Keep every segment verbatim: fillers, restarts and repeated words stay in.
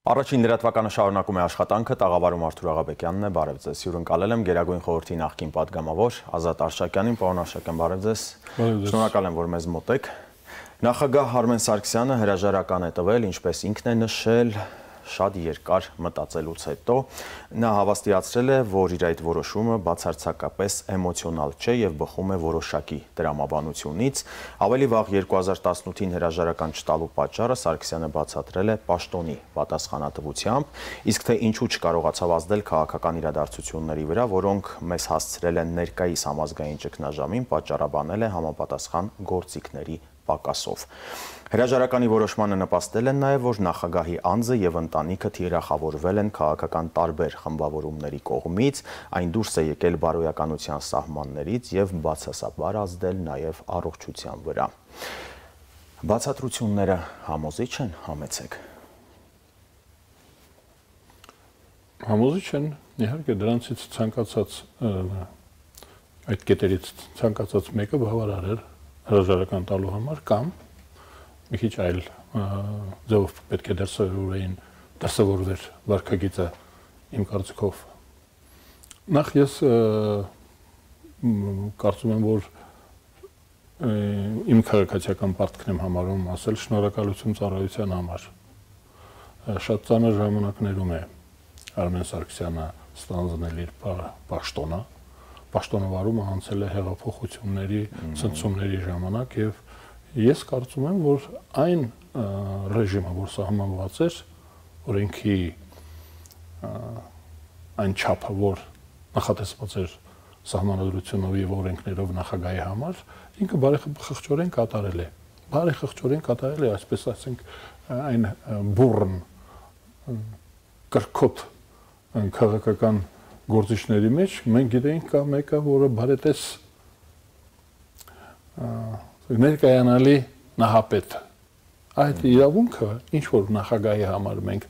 Առաջին լրատվականը շարունակում է աշխատանքը, տաղավարում Արթուր Աղաբեկյանն է, բարև ձեզ, հյուրընկալել եմ Գերագույն խորհրդի նախկին պատգամավոր Ազատ Արշակյանին, պարոն Արշակյան, բարև ձեզ, շնորհակալ եմ, որ մեզ մոտ եք։ Նախագահ Արմեն Սարգսյանը հրաժարական է տվել, ինչպես ինքն է նշել, շատ երկար մտածելուց հետո, նա հավաստիացրել է, որ իր այդ որոշումը բացարձակապես էմոցիոնալ չէ եւ բխում է որոշակի տրամաբանությունից, ավելի վաղ երկու հազար տասնութին հրաժարական չտալու պատճառը Սարգսյանը բացատրել է պաշտոնի պատասխանատվությամբ, իսկ թե ինչու չկարողացավ ազդել քաղաքական իրադարձությունների վրա, որոնք մեզ հասցրել են ներկայիս համազգային ճգնաժամին, պատճառաբանել է համապատասխան գործիքների պակասով։ Հրաժարականի որոշմանը նպաստել են նաև, որ նախագահի անձը եւ ընտանիքը թիրախավորվել են քաղաքական տարբեր խմբավորումների կողմից, այն դուրս է եկել բարոյականության սահմաններից եւ բացասաբար ազդել նաև առողջության վրա։ Բացատրությունները համոզիչ են, համեցեք։ Համոզիչ են, իհարկե դրանցից ցանկացած այդ կետերից ցանկացած մեկը բավարար է հրաժարական տալու համար կամ մի քիչ այլ ձևով պետք է դրսևորվեին դրսևորվեր վարքագիծը իմ կարծիքով։ Նախ ես կարծում եմ, որ իմ քաղաքացիական պարտքն եմ համարում ասել շնորհակալություն ծառայության համար։ Շատ ծանր ժամանակներում է Արմեն Սարգսյանը ստանձնել իր պաշտոնը, պաշտոնը վարումը անցել է հեղափոխությունների, ցնցումների ժամանակ եւ ես կարծում եմ, որ այն ռեժիմը, որ սահմանված էր, օրենքի այն չափը, որ նախատեսված էր սահմանադրությունով եւ օրենքներով նախագահի համար, ինքը բարեխղճորեն կատարել է։ Բարեխղճորեն կատարել է, այսպես ասենք, այն բուրըն կրկոտ քաղաքական գործիչների մեջ մենք գիտենք կա մեկը, որը բարետես ներկայանալի նահապետ։ Այդ իրավունքը, ինչ որ նախագահի համար մենք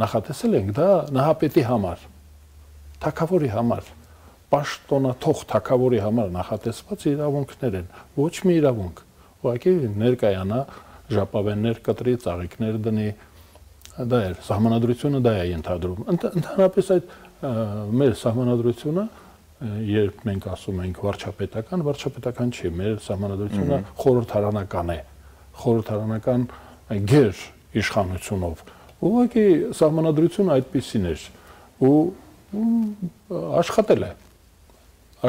նախատեսել ենք, դա նահապետի համար, թագավորի համար, պաշտոնաթող թագավորի համար նախատեսված իրավունքներ են, ոչ մի իրավունք, ուղղակի ներկայանա, ժապավեններ կտրի, ծաղիկներ դնի, դա է, սահմանադրությունը դա է ենթադրում։ Ընդհանրապես այդ մեր սահմանադրությունը, երբ մենք ասում ենք վարչապետական, վարչապետական չի, մեր սահմանադրությունը խորհրդարանական է, խորհրդարանական գեր իշխանությունով։ Ուղղակի սահմանադրությունը այդպիսին էր ու աշխատել է,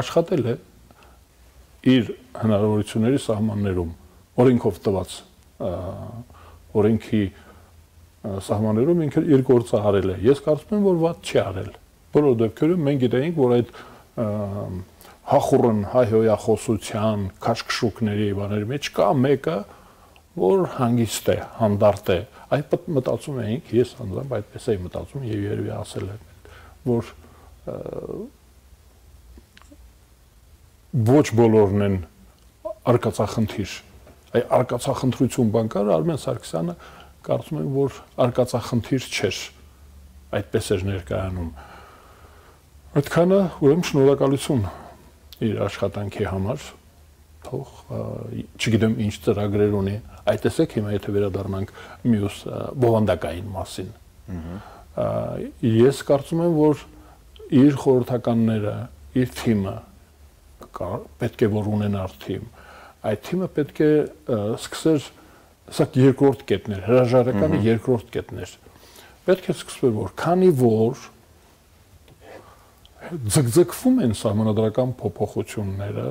աշխատել է իր հնարավորությունների սահմաններում, օրենքով տված օրենքի սահմաններում ինքը իր գործը արել է։ Ես կարծում եմ, որ վատ չի արել։ Բոլոր դեպքերում մենք գիտենք, որ այդ հախուռն հայհոյախոսության, քաշքշուկների բաների մեջ կա մեկը, որ հանգիստ է, հանդարտ է։ Այդ մտածում էինք, ես անձամբ այդպես էի մտածում եւ երևի ասել եմ, որ ոչ բոլորն են արկածախնդիր։ Այ արկածախնդրություն բան կար, Արմեն Սարգսյանը կարծում եմ, որ արկածախնդիր չէր, այդպես էր ներկայանում։ Այդքանը ուրեմն շնորհակալություն իր աշխատանքի համար, թող չգիտեմ ինչ ծրագրեր ունի, այդ տեսեք հիմա եթե վերադառնանք մյուս բովանդակային մասին։ Ես կարծում եմ, որ իր խորհրդականները, իր թիմը պետք է որ ունենար թիմ, այդ թիմը պետք է սկսեր Սա երկրորդ կետն էր, հրաժարականը երկրորդ կետն էր։ Պետք է սկսվեր, որ քանի որ ձգձգվում են սահմանադրական փոփոխությունները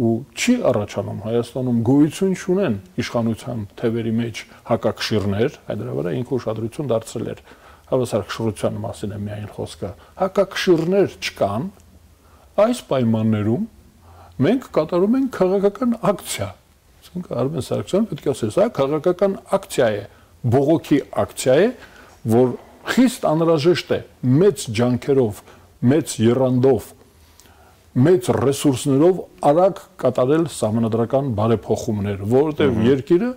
ու չի առաջանում Հայաստանում գոյություն չունեն իշխանության թևերի մեջ հակակշիռներ, այդ դրա վրա ինքը ուշադրություն դարձրել էր, հավասարակշռության մասին է միայն խոսքը, հակակշիռներ չկան, այս պայմաններում մենք կատարում ենք քաղաքական ակցիա։ Արմեն Սարգսյանը պետք է ասել, սա քաղաքական ակցիա է, բողոքի ակցիա է, որ խիստ անհրաժեշտ է մեծ ջանքերով, մեծ եռանդով, մեծ ռեսուրսներով արագ կատարել սահմանադրական բարեփոխումներ, որովհետև երկիրը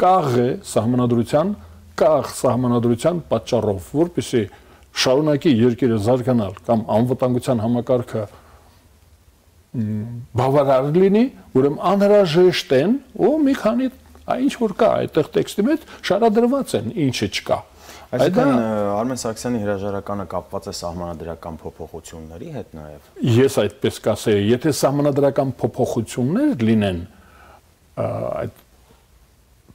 կաղ է սահմանադրության, կաղ սահմանադրության պատճառով, որպեսզի շարունակի երկիրը զարգանալ կամ անվտանգության համակարգը բավարար լինի, ուրեմն անհրաժեշտ են ու մի քանի Այն ինչ որ կա, այդտեղ տեքստի մեջ շարադրված են, ինչը չկա։ Այսինքն Արմեն Սարգսյանի հրաժարականը կապված է սահմանադրական փոփոխությունների հետ նաև։ Ես այդպես կասեի, եթե սահմանադրական փոփոխություններ լինեն, այդ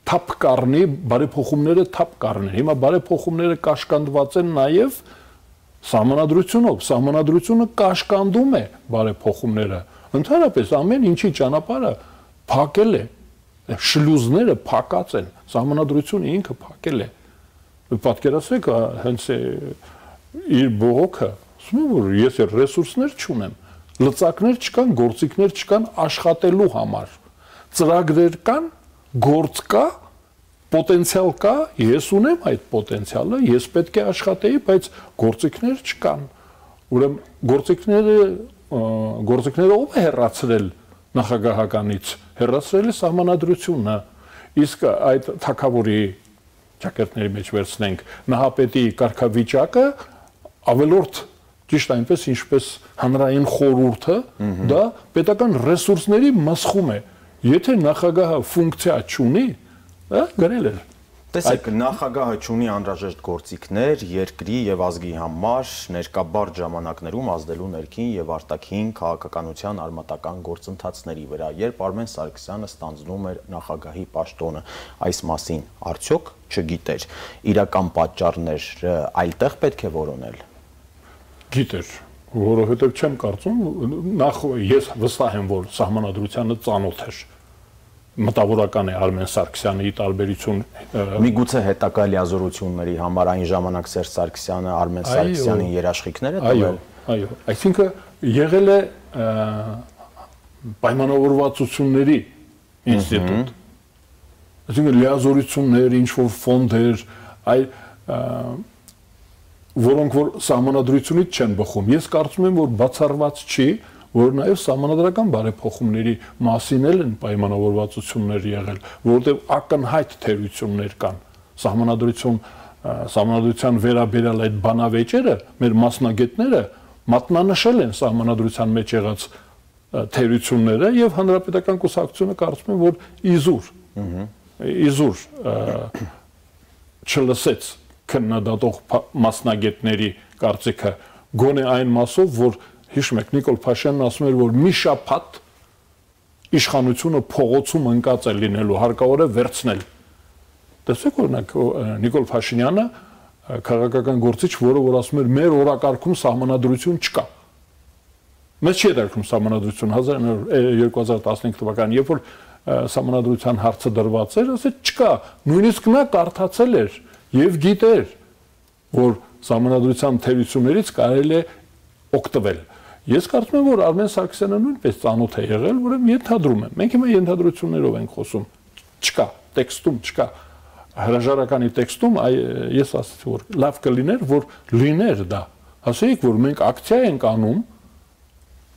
թափ կառնի, բարեփոխումները թափ կառնեն։ Հիմա բարեփոխումները կաշկանդված են նաև սահմանադրությունով, սահմանադրությունը կաշկանդում է բարեփոխումները։ Ընդհանրապես ամեն ինչի ճանապարհը փակել է, շլյուզները փակած են, սահմանադրությունը ինքը փակել է։ Պատկերացրեք, հենց իր բողոքը, ասում եմ, որ ես ռեսուրսներ չունեմ, լծակներ չկան, գործիքներ չկան աշխատելու համար, ծրագրեր կան, գործ կա, պոտենցիալ կա, ես ունեմ այդ պոտենցիալը, ես պետք է աշխատեի, բայց գործիքներ չկան։ Ուրեմն գործիքները գործիքները ով է հեռացրել նախագահականից, հեռացրել է սահմանադրությունը, իսկ այդ թագավորի ճակերտների մեջ վերցնենք նահապետի կարգավիճակը ավելորդ ճիշտ այնպես ինչպես հանրային խորհուրդը դա պետական ռեսուրսների մասխում է եթե նախագահը ֆունկցիա չունի դա գրել է տեսեք նախագահը չունի անհրաժեշտ գործիքներ երկրի եւ ազգի համար ներկաբար ժամանակներում ազդելու ներքին եւ արտաքին քաղաքականության արմատական գործընթացների վրա երբ Արմեն Սարգսյանը ստանձնում էր նախագահի պաշտոնը այս մասին արդյոք չգիտեր իրական պատճառները այլտեղ պետք է որոնել գիտեր որովհետեւ չեմ կարծում նախ ես վստահ եմ որ սահմանադրությանը ծանոթ էր մտավորական է Արմեն Սարգսյանի տարբերություն միգուցե հետակա լիազորությունների համար այն ժամանակ Սերժ Սարգսյանը Արմեն Սարգսյանին երաշխիքներ է տվել այո այսինքն եղել է պայմանավորվածությունների ինստիտուտ այսինքն լիազորություններ ինչ որ ֆոնդեր այ որոնք որ սահմանադրությունից չեն բխում ես կարծում եմ որ բացառված չի որ նաև սահմանադրական բարեփոխումների մասին են պայմանավորվածություններ եղել, որովհետև ակնհայտ թերություններ կան։ Սահմանադրություն, սահմանադրության վերաբերյալ այդ բանավեճերը մեր մասնագետները մատնանշել են սահմանադրության մեջ եղած թերությունները եւ հանրապետական կուսակցությունը կարծում են, որ իզուր, իզուր չլսեց քննադատող մասնագետների կարծիքը գոնե այն մասով, որ Հիշում եք Նիկոլ Փաշյանն ասում էր որ մի շաբաթ իշխանությունը փողոցում ընկած է լինելու հարկավոր է վերցնել տեսեք օրինակ Նիկոլ Փաշինյանը քաղաքական գործիչ որը որ ասում էր մեր օրակարգում սահմանադրություն չկա մեզ չի դերքում սահմանադրություն երկու հազար տասնհինգ թվականին երբ որ սահմանադրության հարցը դրված էր ասեց չկա նույնիսկ նա կարդացել էր եւ գիտեր որ սահմանադրության թերություններից կարելի է օգտվել Ես կարծում եմ, որ Արմեն Սարգսյանը նույնպես ծանոթ է եղել, ուրեմն ենթադրում եմ։ Մենք հիմա ենթադրություններով ենք խոսում։ Չկա, տեքստում չկա։ Հրաժարականի տեքստում ես ասացի, որ լավ կլիներ, որ լիներ դա։ Ասեիք, որ մենք ակցիա ենք անում,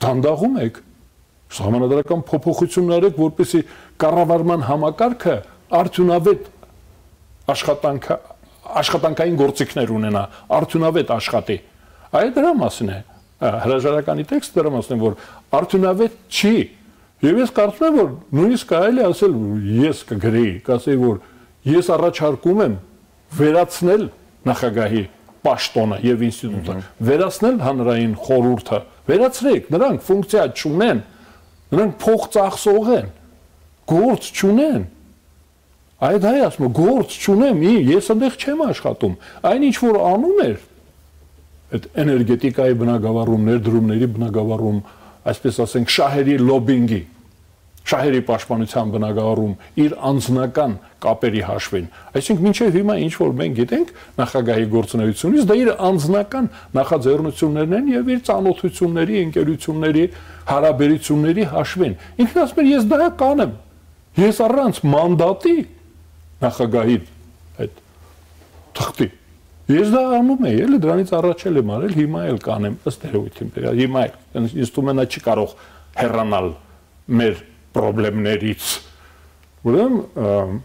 դանդաղում եք, սահմանադրական փոփոխություններ եք, որպեսզի կառավարման համակարգը արդյունավետ աշխատանք աշխատանքային գործիքներ ունենա, արդյունավետ աշխատի։ Այդ դրա մասին է։ Հրաժարականի տեքստը դրա մասին որ արդյունավետ չի եւ ես կարծում եմ որ նույնիսկ կարելի ասել ես կգրեի կասեի որ ես առաջարկում եմ վերացնել նախագահի պաշտոնը եւ ինստիտուտը վերացնել հանրային խորհուրդը վերացրեք նրանք ֆունկցիա չունեն նրանք փող ծախսող են գործ չունեն այդ հայ ասում է գործ չունեմ ես այնտեղ չեմ աշխատում այն ինչ որ անում էր այդ էներգետիկայի բնագավառում, ներդրումների բնագավառում, այսպես ասենք, շահերի լոբինգի, շահերի պաշտպանության բնագավառում իր անձնական կապերի հաշվին։ Այսինքն մինչև հիմա ինչ որ մենք գիտենք նախագահի գործունեությունից, դա իր անձնական նախաձեռնություններն են եւ իր ծանոթությունների, ընկերությունների, հարաբերությունների հաշվին։ Ինքն ասում է ես դա կանեմ։ Ես առանց մանդատի նախագահի այդ թղթի Ես դա անում եմ, էլի դրանից առաջ էլ եմ արել, հիմա էլ կանեմ, ըստ երևույթին, հիմա էլ ինձ թվում է նա չի կարող հեռանալ մեր խնդիրներից։ Ուրեմն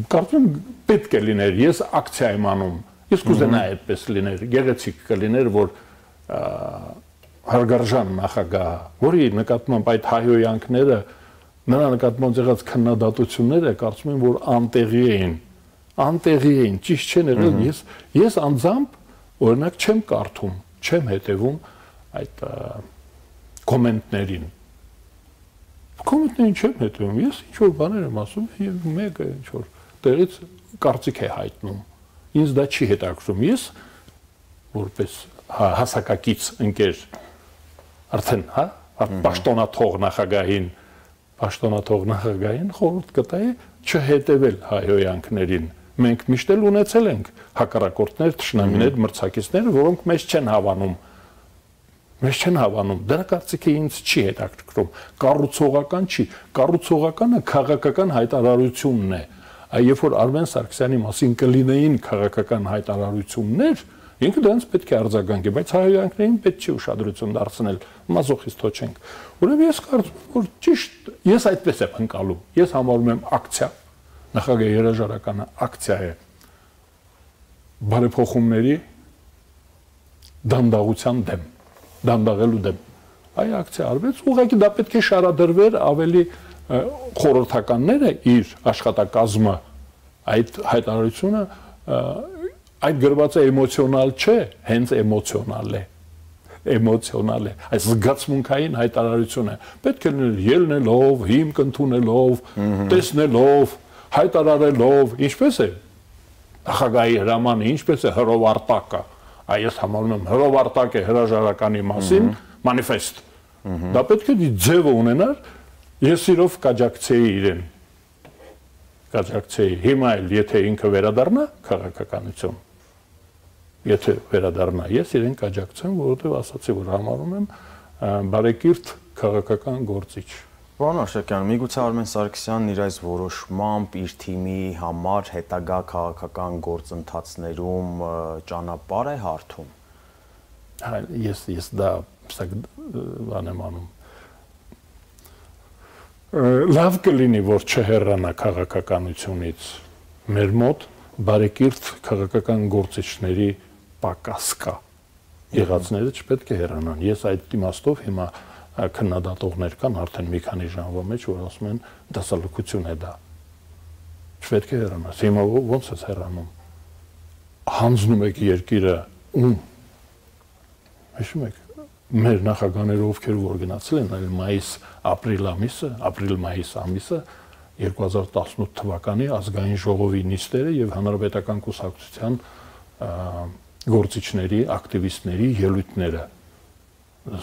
կարծում պետք է լիներ, ես ակցիա եմ անում, ես կուզենայի այդպես լիներ, գեղեցիկ կլիներ, որ հարգարժան նախագահ, որի նկատմամբ այդ հայհոյանքները Նրա նկատմամբ եղած քննադատությունները կարծում եմ, որ անտեղի էին, անտեղի էին, ճիշտ չեն եղել, ես ես անձամբ օրինակ չեմ կարդում, չեմ հետևում այդ կոմենտներին։ Կոմենտներին չեմ հետևում, ես ինչ որ բաներ եմ ասում եւ մեկը ինչ որ տեղից կարծիք է հայտնում։ Ինձ դա չի հետաքրքրում, ես որպես հասակակից ընկեր արդեն, հա, պաշտոնաթող նախագահին, պաշտոնաթող նախագահին խորհուրդ կտայի չհետևել հայհոյանքներին։ Մենք միշտ էլ ունեցել ենք հակառակորդներ, թշնամիներ, մրցակիցներ, որոնք մեզ չեն հավանում։ Մեզ չեն հավանում։ Դրա կարծիքը ինձ չի հետաքրքրում։ Կառուցողական չի, կառուցողականը քաղաքական հայտարարությունն է։ Երբ որ Արմեն Սարգսյանի մասին կլինեին քաղաքական հայտարարություններ, ինքը դրանց պետք է արձագանքի, բայց հայհոյանքներին պետք չի ուշադրություն դարձնել, մազոխիստո չենք։ Ուրեմն ես կարծում եմ, որ ճիշտ, ես այդպես եմ ընկալում։ Ես համարում եմ ակցիա, նախագահի հրաժարականը ակցիա է բարեփոխումների դանդաղության դեմ, դանդաղելու դեմ։ Այ ակցիա արվեց, ուղղակի դա պետք է շարադրվեր ավելի խորհրդականները իր աշխատակազմը այդ հայտարարությունը այդ գրված է էմոցիոնալ չէ, հենց էմոցիոնալ է, էմոցիոնալ է, այս զգացմունքային հայտարարությունը պետք է լինել ելնելով, հիմք ընդունելով, տեսնելով, հայտարարելով, ինչպես է նախագահի հրամանը, ինչպես է հրովարտակը, այ ես համարում եմ հրովարտակ է հրաժարականի մասին մանիֆեստ, դա պետք է ձևը ունենար, ես իրով կաջակցեի իրեն, կաջակցեի, հիմա էլ եթե ինքը վերադառնա քաղաքականություն, եթե վերադառնա, ես իրեն կաջակցեմ, որովհետև ասացի, որ համարում եմ բարեկիրթ քաղաքական գործիչ։ Պարոն Արշակյան, միգուցե Արմեն Սարգսյանն իր այս որոշմամբ իր թիմի համար հետագա քաղաքական գործընթացներում ճանապարհ է հարթում։ Ես ես դա բան եմ անում։ Լավ կլինի, որ չհեռանա քաղաքականությունից մեր մոտ բարեկիրթ քաղաքական գործիչների պակաս կա։ Եղածները չպետք է հեռանան։ Ես այդ իմաստով հիմա քննադատողներ կան արդեն մի քանի ժամվա մեջ, որ ասում են դասալուկություն է դա։ Չպետք է հեռանա։ Հիմա ո՞նց է հեռանում։ Հանձնում եք երկիրը ում։ Հիշում եք մեր նախագահները ովքեր որ գնացել են այլ մայիս ապրիլ ամիսը, ապրիլ-մայիս ամիսը երկու հազար տասնութ թվականի ազգային ժողովի նիստերը եւ հանրապետական կուսակցության գործիչների, ակտիվիստների ելույթները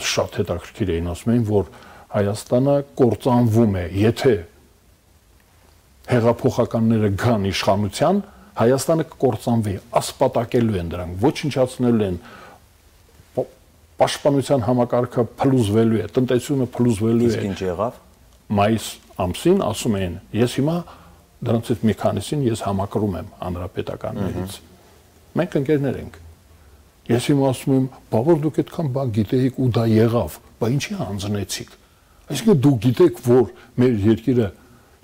շատ հետաքրքիր էին, ասում էին, որ Հայաստանը կործանվում է, եթե հեղափոխականները գան իշխանության, Հայաստանը կկործանվի, ասպատակելու են դրանք, ոչնչացնելու են, պաշտպանության համակարգը փլուզվելու է, տնտեսությունը փլուզվելու է։ Իսկ ինչ եղավ։ Մայիս ամսին ասում էին, ես հիմա դրանցից մի քանիսին ես համակրում եմ հանրապետականներից։ Մենք ընկերներ ենք։ Ես հիմա ասում եմ, բավար դուք այդքան բան գիտեիք ու դա եղավ, բա ինչի հանձնեցիք։ Այսինքն դուք գիտեք, որ մեր երկիրը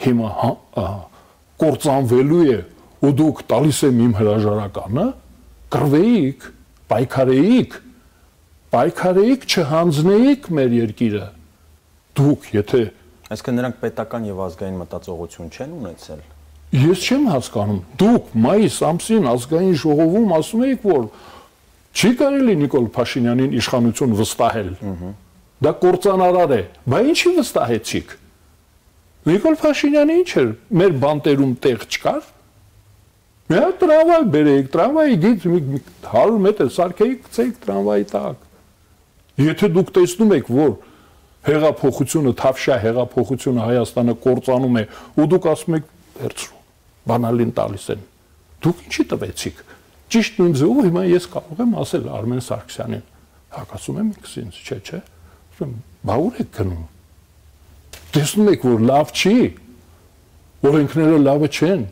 հիմա կործանվելու է ու դուք տալիս եմ իմ հրաժարականը, կռվեիք, պայքարեիք, պայքարեիք, չհանձնեիք մեր երկիրը։ Դուք, եթե Այսինքն նրանք պետական եւ ազգային մտածողություն չեն ունեցել։ Ես չեմ հասկանում։ Դուք մայիս ամսին ազգային ժողովում ասում եք, որ չի կարելի Նիկոլ Փաշինյանին իշխանություն վստահել։ Դա կործանարար է։ Բա ինչի վստահեցիք։ Նիկոլ Փաշինյանը ինչ էր, մեր բանտերում տեղ չկար։ Մի հատ տրամվայ բերեիք, տրամվայի դից հարյուր մետր սարքեիք, գցեիք տրամվայի տակ։ Եթե դուք տեսնում եք, որ հեղափոխությունը, թավշյա հեղափոխությունը Հայաստանը կործանում է, ու դուք ասում եք, վերցրու, բանալին տալիս են։ Դուք ինչի տվեցիք։ Ճիշտ նույն ձևով հիմա ես կարող եմ ասել Արմեն Սարգսյանին, հակասում եմ ինքս ինձ, չէ, չէ։ Ասում եմ, բա ուր եք գնում։ Տեսնում եք, որ լավ չի, օրենքները լավը չեն,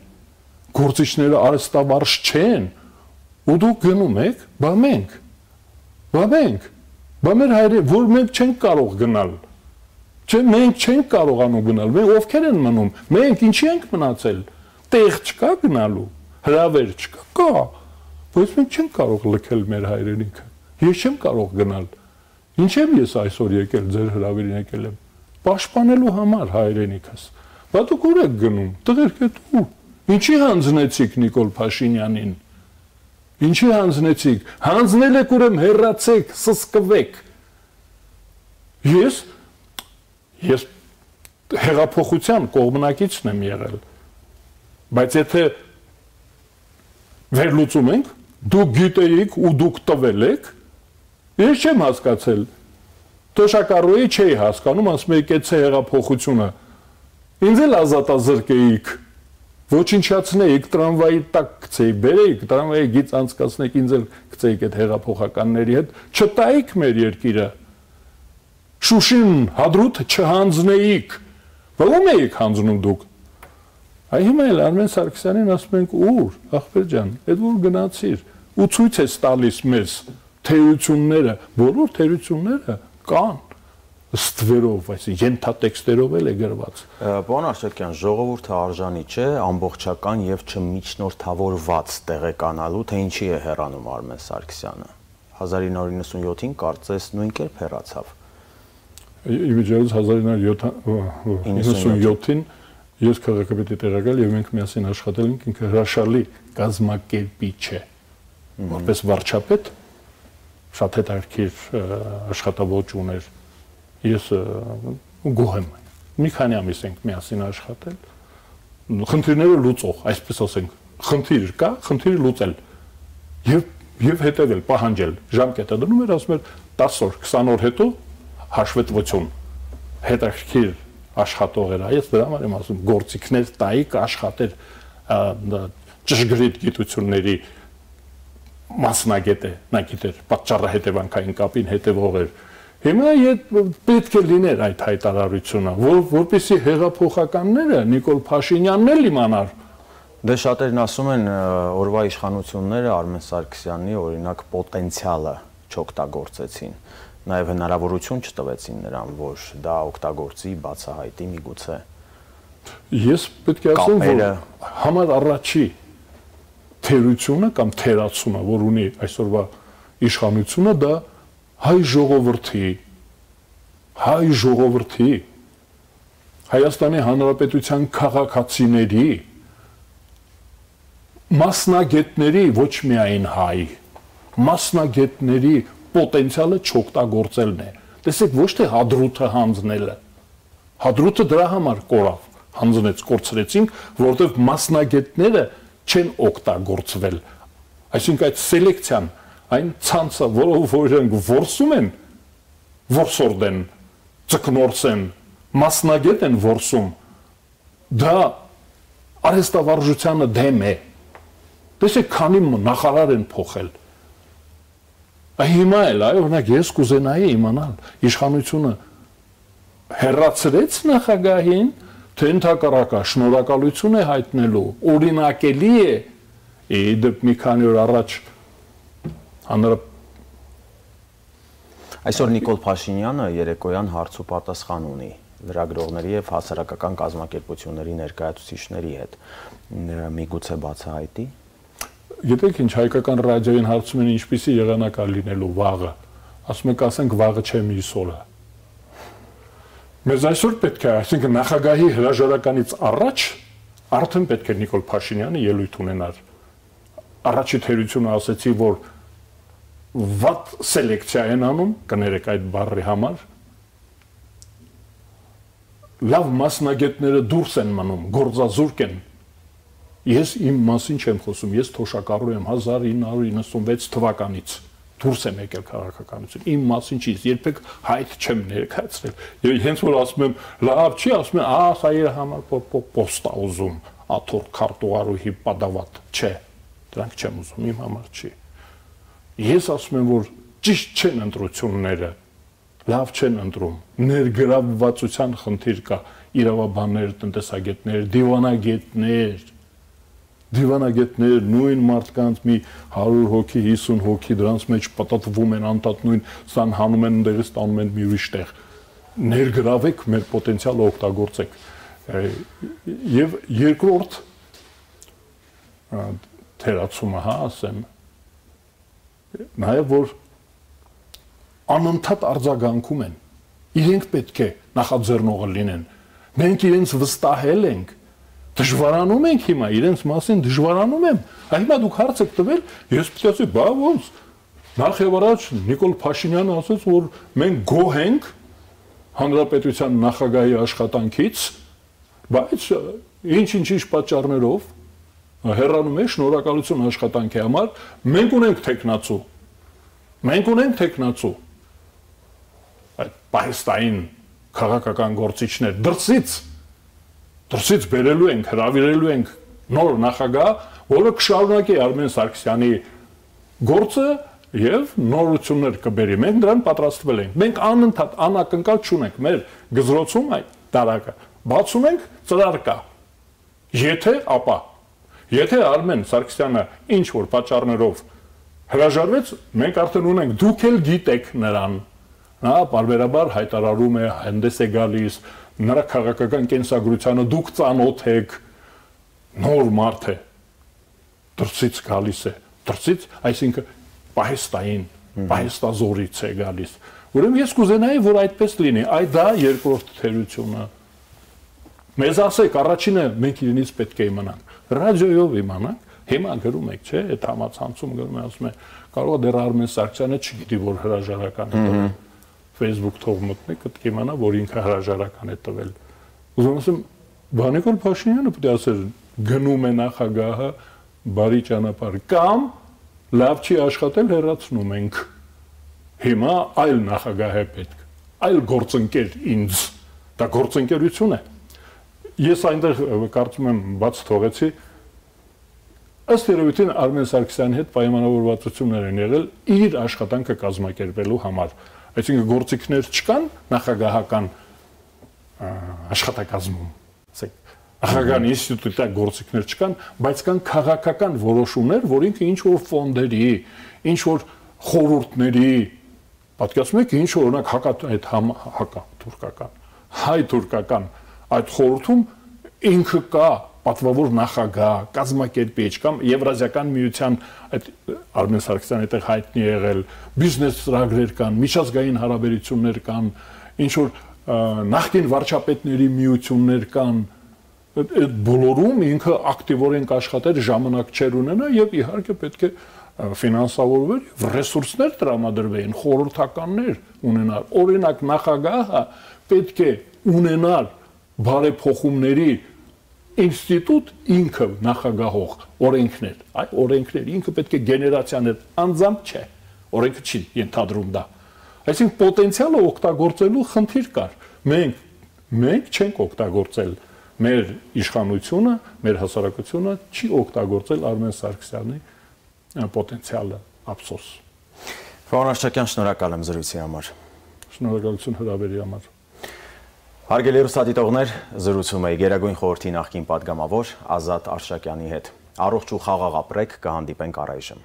գործիչները արհեստավարժ չեն, ու դուք գնում եք, բա մենք, բա մենք, բա մեր հայրը, որ մենք չենք կարող գնալ, չէ, մենք չենք կարողանում գնալ, մենք ովքեր են մնում, մենք ինչի ենք մնացել, տեղ չկա գնալու, հրավեր չկա, կա, բայց մենք չենք կարող լքել մեր հայրենիքը, ես չեմ կարող գնալ, ինչ եմ ես այսօր եկել, ձեր հրավերին եկել եմ, պաշտպանելու համար հայրենիքս։ Բա դուք ուր եք գնում, տղերք եք ու ինչի հանձնեցիք Նիկոլ Փաշինյանին։ Ինչի հանձնեցիք։ Հանձնել եք ուրեմն հեռացեք, սսկվեք։ Ես ես հեղափոխության կողմնակիցն եմ եղել։ Բայց եթե վերլուծում ենք, դուք գիտեիք ու դուք տվել եք, ես չեմ հասկացել։ Թոշակառուի չէի հասկանում, ասում եք այդ հեղափոխությունը։ Ինձ էլ ազատազրկեիք, ոչնչացնեիք, տրամվայի տակ գցեիք, բերեիք, տրամվայի գից անցկացնեիք, ինձ էլ գցեիք այդ հեղափոխականների հետ, չտայիք մեր երկիրը։ Շուշին հադրութ չհանձնեիք։ Ո՞ւմ էիք հանձնում դուք։ Այ հիմա էլ Արմեն Սարգսյանին ասում ենք ուր, ախպեր ջան, այդ որ գնացիր, ու ցույց ես տալիս մեզ թերությունները, բոլոր թերությունները կան ստվերով, այսինքն ենթատեքստերով էլ է գրված։ Պարոն Արշակյան, ժողովուրդը արժանի չէ ամբողջական եւ չմիջնորդավորված տեղեկանալու, թե ինչի է հեռանում Արմեն Սարգսյանը։ հազար ինը հարյուր նվաթ կարծես նույն կերպ հեռացավ։ Իմիջիայից հազար ինը հարյուր նվաթին ես քաղաքապետի տեղակալ եւ մենք միասին աշխատել ենք, ինքը հրաշալի կազմակերպիչ է։ Որպես վարչապետ շատ հետաքրքիր աշխատավոճ ուներ։ Ես գոհ եմ։ Մի քանի ամիս ենք միասին աշխատել։ Խնդիրները լուծող, այսպես ասենք, խնդիր կա, խնդիրը լուծել։ Եվ եւ հետեւել, պահանջել։ Ժամկետը դնում էր, ասում էր տասը օր, քսան օր հետո հաշվետվություն։ Հետաքրքիր աշխատող էր, այս դրա համար եմ ասում, գործիքներ տայիք աշխատեր ճշգրիտ գիտությունների մասնագետ է, նա գիտեր, պատճառահետևանքային կապին հետևող էր։ Հիմա պետք է լիներ այդ հայտարարությունը, որպեսզի հեղափոխականները Նիկոլ Փաշինյանն էլ իմանար։ Դե շատերն ասում են օրվա իշխանությունները Արմեն Սարգսյանի օրինակ պոտենցիալը չօգտագործեցին, նաև հնարավորություն չտվեցին նրան, որ դա օգտագործի, բացահայտի միգուցե։ Ես պետք է ասեմ, որ համար առաջի թերությունը կամ թերացումը, որ ունի այսօրվա իշխանությունը, դա հայ ժողովրդի, հայ ժողովրդի, Հայաստանի Հանրապետության քաղաքացիների, մասնագետների, ոչ միայն հայ, մասնագետների պոտենցիալը չօգտագործելն է։ Տեսեք, ոչ թե հադրութը հանձնելը։ Հադրութը դրա համար կորավ, հանձնեց, կորցրեցինք, որովհետև մասնագետները չեն օգտագործվել։ Այսինքն այդ սելեկցիան, այն ցանցը, որով որոնք որսում են, որսորդ են, ծկնորս են, մասնագետ են որսում, դա արհեստավարժությանը դեմ է։ Տեսեք, քանի նախարար են փոխել։ Հիմա էլ, այո, օրինակ ես կուզենայի իմանալ, իշխանությունը հեռացրեց նախագահին, թե ընդհակառակը շնորհակալություն է հայտնելու, օրինակելի է, իդեպ մի քանի օր առաջ հանրապետության Այսօր Նիկոլ Փաշինյանը երեկոյան հարց ու պատասխան ունի լրագրողների եւ հասարակական կազմակերպությունների ներկայացուցիչների հետ։ Միգուցե բացահայտի։ Գիտեք ինչ, հայկական ռադիոյին հարցում են ինչպիսի եղանակ է լինելու վաղը, ասում եք ասենք վաղը չէ մյուս օրը։ Մեզ այսօր պետք է, այսինքն նախագահի հրաժարականից առաջ արդեն պետք է Նիկոլ Փաշինյանը ելույթ ունենար։ Առաջի թերությունը ասեցի, որ վատ սելեկցիա են անում, կներեք այդ բառի համար, լավ մասնագետները դուրս են մնում, գործազուրկ են։ Ես իմ մասին չեմ խոսում, ես թոշակառու եմ հազար ինը հարյուր իննսունվեց թվականից, դուրս եմ եկել քաղաքականություն, իմ մասին չի, երբեք հայտ չեմ ներկայացրել, եւ հենց որ ասում եմ, լավ չի, ասում են, ահա սա իր համար պոստա ուզում, աթոռ քարտուղարուհի պատավատ, չէ, դրանք չեմ ուզում, իմ համար չի։ Ես ասում եմ, որ ճիշտ չեն ընտրությունները, լավ չեն ընտրում, ներգրավվածության խնդիր կա, իրավաբաններ, տնտեսագետներ, դիվանագետներ, դիվանագետներ, նույն մարդկանց մի հարյուր հոգի, հիսուն հոգի դրանց մեջ պատատվում են, անտատ նույն սան հանում են, ընդերից տանում են մի ուրիշ տեղ։ Ներգրավեք, մեր պոտենցիալը օգտագործեք։ Եվ երկրորդ թերացումը, հա, ասեմ, նաև որ անընդհատ արձագանքում են, իրենք պետք է նախաձեռնողը լինեն։ Մենք իրենց վստահել ենք, դժվարանում ենք հիմա, իրենց մասին դժվարանում եմ։ Հիմա դուք հարց եք տվել, ես պետք է ասի, բա ոնց։ Նախ եւ առաջ Նիկոլ Փաշինյանը ասաց, որ մենք գոհ ենք հանրապետության նախագահի աշխատանքից, բայց ինչ-ինչ-ինչ պատճառներով հեռանում է շնորհակալություն աշխատանքի համար, մենք ունենք տեխնացու։ Մենք ունենք տեխնացու։ Այդ պահեստային քաղաքական գործիչներ դրսից դրսից բերելու ենք, հրավիրելու ենք նոր նախագահ, որը կշարունակի Արմեն Սարգսյանի գործը եւ նորություններ կբերի։ Մենք դրան պատրաստվել ենք։ Մենք անընդհատ անակնկալ չունենք մեր գզրոցում այդ տարակը։ Բացում ենք ծրար կա։ Եթե ապա Եթե Արմեն Սարգսյանը ինչ որ պատճառներով հրաժարվեց, մենք արդեն ունենք, դուք էլ գիտեք նրան։ Նա բարբերաբար հայտարարում է, հանդես է գալիս, նրա քաղաքական կենսագրությանը դուք ծանոթ եք, նոր մարդ է, դրսից գալիս է, դրսից, այսինքն պահեստային, պահեստազորից է գալիս։ Ուրեմն ես կուզենայի, որ այդպես լինի, այ դա երկրորդ թերությունը։ Մեզ ասեք, առաջինը մենք իրենից պետք է իմանանք, ռադիոյով իմանանք, հիմա գրում եք, չէ, այդ համացանցում գրում է, ասում է, կարող է դեռ Արմեն Սարգսյանը չգիտի, որ հրաժարական է տվել, Facebook թող մտնի, կիմանա, որ ինքը հրաժարական է տվել։ Ուզում ասեմ, Նիկոլ Փաշինյանը պետք է ասեր, գնում է նախագահը բարի ճանապարհ, կամ լավ չի աշխատել, հեռացնում ենք։ Հիմա այլ նախագահ է պետք, այլ գործընկեր ինձ, դա գործընկերություն է։ Ես այնտեղ կարծում եմ բաց թողեցի, ըստ երևույթին Արմեն Սարգսյանի հետ պայմանավորվածություններ են եղել իր աշխատանքը կազմակերպելու համար։ Այսինքն գործիքներ չկան նախագահական աշխատակազմում, նախագահական ինստիտուտի գործիքներ չկան, բայց կան քաղաքական որոշումներ, որ ինքը ինչ որ ֆոնդերի, ինչ որ խորհուրդների, պատկերացնում եք, ինչ որ օրինակ հակա այդ հակա թուրքական, հայ-թուրքական այդ խորհրդում ինքը կա պատվավոր նախագահ, կազմակերպիչ կամ Եվրազիական միության այդ Արմեն Սարգսյանը այդտեղ հայտնի եղել, բիզնես ծրագրեր կան, միջազգային հարաբերություններ կան, ինչ որ նախկին վարչապետների միություններ կան, այդ բոլորում ինքը ակտիվորեն կաշխատեր, ժամանակ չեր ունենա եւ իհարկե պետք է ֆինանսավորվեր եւ ռեսուրսներ տրամադրվեին, խորհրդականներ ունենալ։ Օրինակ նախագահը պետք է ունենալ բարեփոխումների ինստիտուտ ինքը նախագահող օրենքներ, այ օրենքներ ինքը պետք է գեներացիաներ անձամբ չէ, օրենքը չի ենթադրում դա։ Այսինքն պոտենցիալը օգտագործելու խնդիր կար։ Մենք մենք չենք օգտագործել մեր իշխանությունը, մեր հասարակությունը չի օգտագործել Արմեն Սարգսյանի պոտենցիալը, ափսոս։ Պարոն Արշակյան, շնորհակալ եմ զրույցի համար։ Շնորհակալություն հրավերի համար։ Հարգելի հեռուստադիտողներ, զրուցում էի Գերագույն խորհրդի նախկին պատգամավոր Ազատ Արշակյանի հետ։ Առողջ ու խաղաղ ապրեք, կհանդիպենք առայժմ։